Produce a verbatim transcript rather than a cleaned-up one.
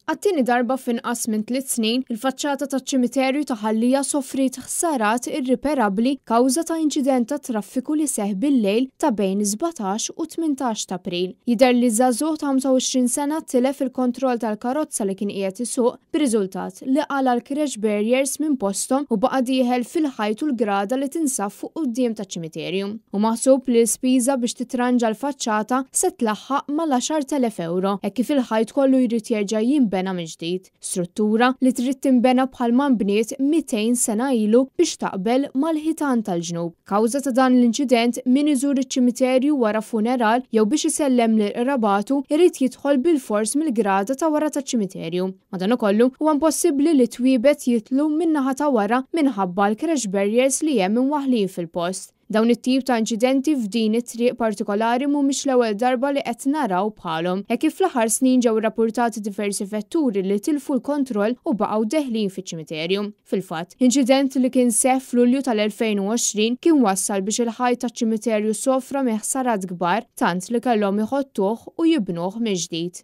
Għat-tieni darba f'inqas minn tliet snin, il-faċċata taċ-ċimiterju ta' Ħal Lija sofriet ħsarat irriperabbli kawża ta' inċident ta' traffiku li seħħ bil-lejl ta' bejn sbatax u tmintax ta' April. Jidher li żagħżugħ ta' ħamsa u għoxrin sena tilef il-kontroll tal-karozza li kien qiegħed isuq b'riżultat li qala l-crash barriers minn posthom u baqa' dieħel fil-ħajt u l-grada li tinsab fuq quddiem taċ-ċimiterju. U maħsub li l-spiża biex titranġa l-faċċata se tlaħħaq mal-għaxart elef euro, hekk kif il-ħajt kollu jrid jerġa' jinbena mill ġdid. Struttura li trid tinbena bħalma nbniet mitejn sena ilu biex taqbel mal-ħitan tal-ġnub. Kawża ta' dan l-inċident, min iżur iċ-ċimiterju wara funeral jew biex isellem lil qrabatu irid jidħol bil-fors mill-grada ta' wara taċ-ċimiterju. Madankollu, huwa impossibbli li twiebet jitlu min-naħa ta' wara minħabba l-crash barriers li hemm imwaħħlin fil-post. Dawn it-tip ta' inċidenti f'din it-triq partikolari mhumiex l-ewwel darba li qed naraw bħalhom, hekk kif fl-aħħar snin ġew rapportati diversi vetturi li tilfu l-kontroll u baqgħu deħlin fiċ-ċimiterju. Fil-fatt, inċident li kien seħħ f'Lulju tal-elfejn u għoxrin kien wassal biex il-ħajt taċ-ċimiterju sofra minn ħsarat kbar tant li kellhom iħottuh u jibnuh mill-ġdid.